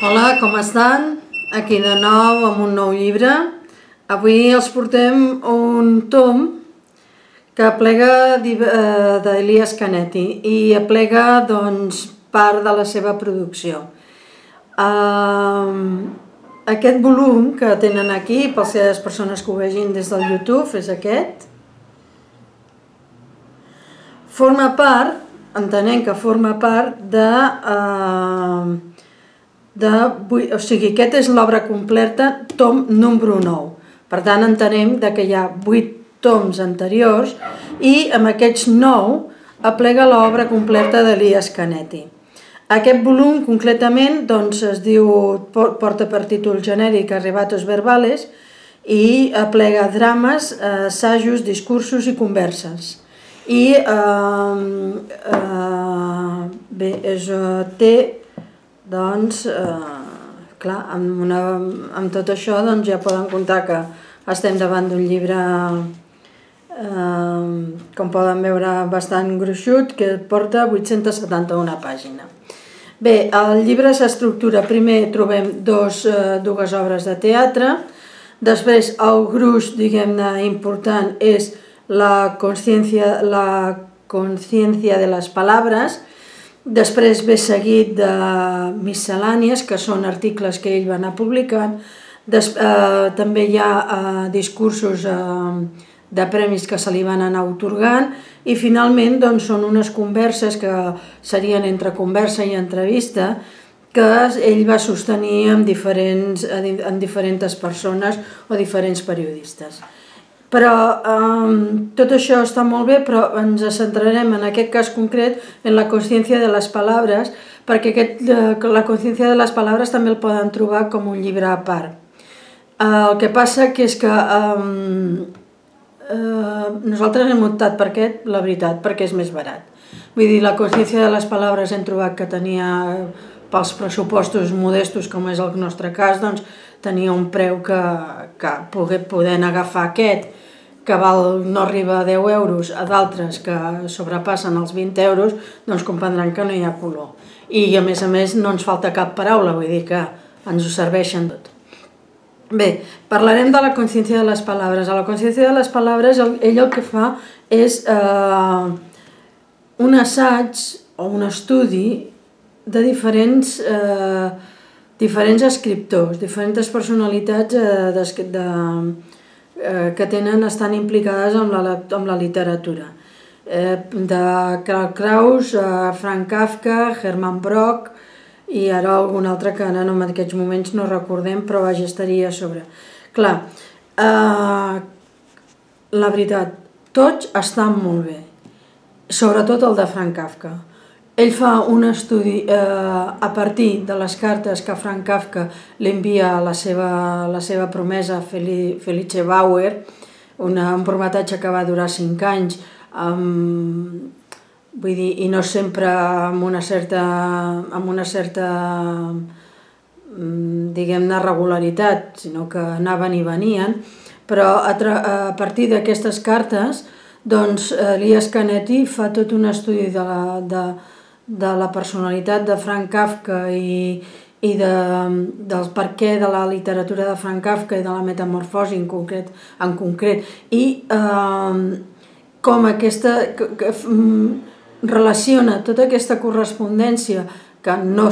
Hola, com estan? Aquí de nou amb un nou llibre. Avui els portem un tom que aplega d'Elias Canetti i aplega part de la seva producció. Aquest volum que tenen aquí, per les persones que ho vegin des del YouTube, és aquest. Forma part, entenem que forma part o sigui, aquest és l'obra completa, tom número 9. Per tant, entenem que hi ha 8 toms anteriors i amb aquests 9 aplega l'obra completa d'Elias Canetti. Aquest volum, concretament, es diu, porta per títol genèric Arrebatos Verbales i aplega drames, assajos, discursos i converses. I bé, té, clar, amb tot això ja poden comptar que estem davant d'un llibre, com poden veure, bastant gruixut, que porta 871 pàgines. Bé, el llibre s'estructura, primer trobem dues obres de teatre, després el gruix, diguem-ne, important és la consciència de les paraules. Després ve seguit de miscel·lànies, que són articles que ell va anar publicant. També hi ha discursos de premis que se li van anar atorgant i finalment són unes converses que serien entre conversa i entrevista que ell va sostenir amb diferents persones o diferents periodistes. Però tot això està molt bé, però ens centrarem en aquest cas concret en la consciència de les paraules, perquè la consciència de les paraules també el poden trobar com un llibre a part. El que passa és que nosaltres hem optat per aquest, la veritat, perquè és més barat. Vull dir, la consciència de les paraules hem trobat que tenia, pels pressupostos modestos, com és el nostre cas, tenia un preu que podent agafar aquest, que no arriba a 10 euros, a d'altres que sobrepassen els 20 euros, doncs comprendran que no hi ha color. I a més no ens falta cap paraula, vull dir que ens ho serveixen tot. Bé, parlarem de la consciència de les paraules. A la consciència de les paraules ell el que fa és un assaig o un estudi de diferents escriptors, diferents personalitats que estan implicades amb la literatura. De Karl Kraus, Franz Kafka, Hermann Brock i ara algun altre que ara en aquests moments no recordem, però vaja, estaria a sobre. Clar, la veritat, tots estan molt bé, sobretot el de Franz Kafka. Ell fa un estudi a partir de les cartes que Franz Kafka li envia a la seva promesa Felice Bauer, un prometatge que va durar 5 anys, vull dir, i no sempre amb una certa diguem-ne regularitat, sinó que anaven i venien, però a partir d'aquestes cartes Elias Canetti fa tot un estudi de la personalitat de Franz Kafka i del perquè de la literatura de Franz Kafka i de la metamorfosi en concret i com relaciona tota aquesta correspondència que no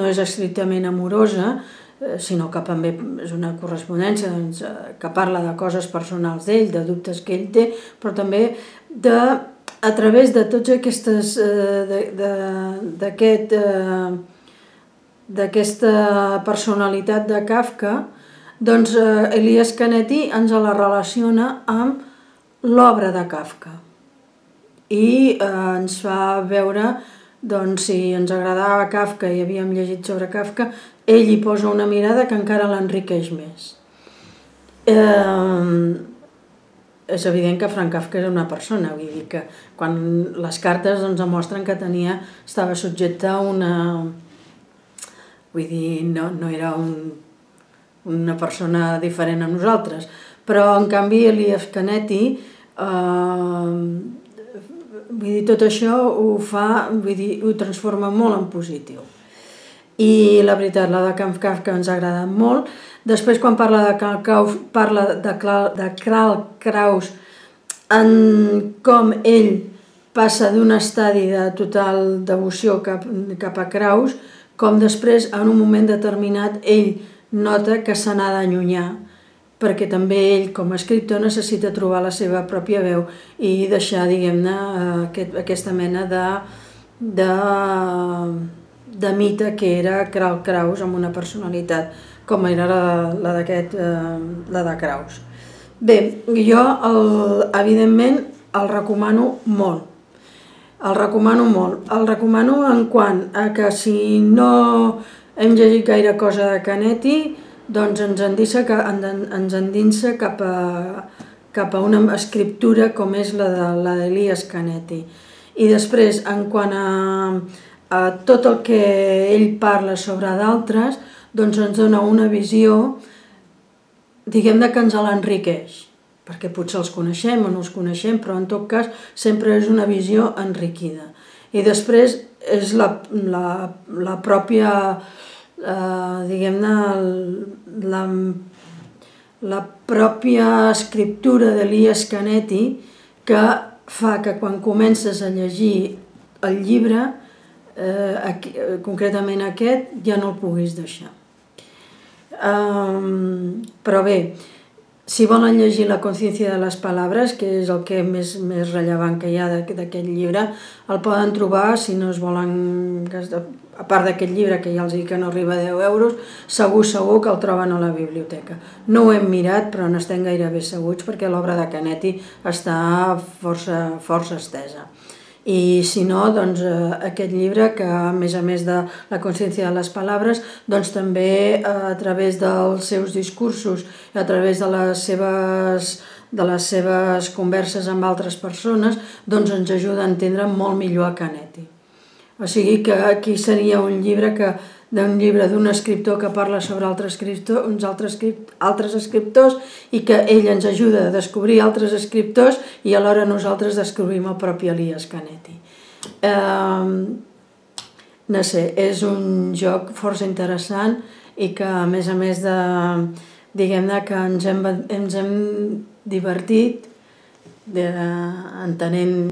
és estrictament amorosa, sinó que també és una correspondència que parla de coses personals d'ell, de dubtes que ell té, però també a través de tots d'aquesta personalitat de Kafka, Elias Canetti ens la relaciona amb l'obra de Kafka i ens fa veure, si ens agradava Kafka i havíem llegit sobre Kafka, ell hi posa una mirada que encara l'enriqueix més. És evident que Franz Kafka era una persona, vull dir que quan les cartes demostren que estava subjecte a una... Vull dir, no era una persona diferent a nosaltres, però en canvi Elias Canetti, vull dir, tot això ho transforma molt en positiu. i la veritat, la de Kafka ens ha agradat molt. Després, quan parla de Kraus, parla de Karl Kraus, en com ell passa d'un estadi de total devoció cap a Kraus, com després, en un moment determinat, ell nota que se n'ha d'allunyar, perquè també ell, com a escriptor, necessita trobar la seva pròpia veu i deixar, diguem-ne, aquesta mena de mite que era Karl Kraus, amb una personalitat com era la de Kraus. Bé, jo evidentment el recomano molt. El recomano en quant a que si no hem llegit gaire cosa de Canetti, doncs ens endinsa cap a una escriptura com és la d'Elias Canetti. I després, en quant a tot el que ell parla sobre d'altres, doncs ens dona una visió, diguem-ne, que ens l'enriqueix, perquè potser els coneixem o no els coneixem, però en tot cas sempre és una visió enriquida. I després és la pròpia, diguem-ne, la pròpia escriptura d'Elias Canetti que fa que quan comences a llegir el llibre, concretament aquest, ja no el puguis deixar. Però bé, si volen llegir La conciencia de les palabres, que és el que més rellevant que hi ha d'aquest llibre, el poden trobar, si no es volen, a part d'aquest llibre que ja els dic que no arriba a 10 euros, segur que el troben a la biblioteca. No ho hem mirat, però n'estem gairebé segurs perquè l'obra de Canetti està força estesa. I si no, doncs aquest llibre, que a més de La conciencia de les palabres, doncs també a través dels seus discursos i a través de les seves converses amb altres persones, doncs ens ajuda a entendre molt millor a Canetti. O sigui que aquí seria un llibre d'un escriptor que parla sobre uns altres escriptors i que ell ens ajuda a descobrir altres escriptors i alhora nosaltres descobrim el propi Elias Canetti. No sé, és un joc força interessant i que a més diguem-ne que ens hem divertit entenent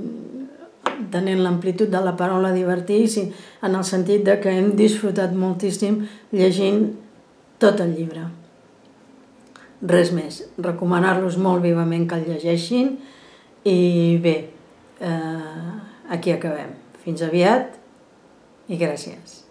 l'amplitud de la paraula divertir, en el sentit que hem disfrutat moltíssim llegint tot el llibre. Res més, recomanar-los molt vivament que el llegeixin i bé, aquí acabem. Fins aviat i gràcies.